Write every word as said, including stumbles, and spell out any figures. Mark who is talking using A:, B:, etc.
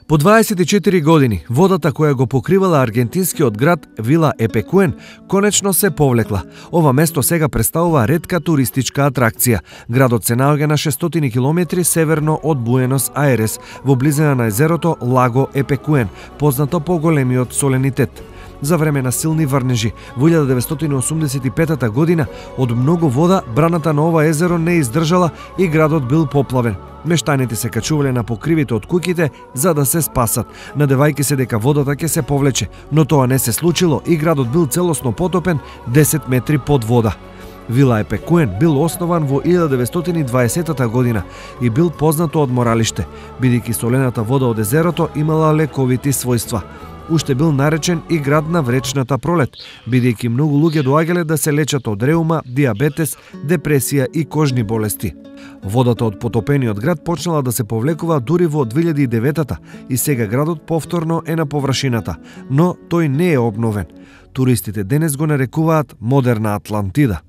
A: По дваесет и четири години, водата која го покривала аргентинскиот град Вила Епекуен конечно се повлекла. Ова место сега представува ретка туристичка атракција. Градот се наоѓа на шестстотини километри северно од Буенос Ајрес, во близина на езерото Лаго Епекуен, познато по големиот соленитет. За време на силни врнежи во илјада деветстотини осумдесет и петата година од многу вода браната на ова езеро не издржала и градот бил поплавен. Мештаните се качувале на покривите од куќите за да се спасат, надевајќи се дека водата ќе се повлече, но тоа не се случило и градот бил целосно потопен десет метри под вода. Вила Епекуен бил основан во илјада деветстотини и дваесетата година и бил познато одморалиште, бидејќи солената вода од езерото имала лековити својства. Уште бил наречен и град на вречната пролет, бидејќи многу луѓе доаѓале да се лечат од реума, диабетес, депресија и кожни болести. Водата од потопениот град почнала да се повлекува дури во две илјади и деветата и сега градот повторно е на површината, но тој не е обновен. Туристите денес го нарекуваат модерна Атлантида.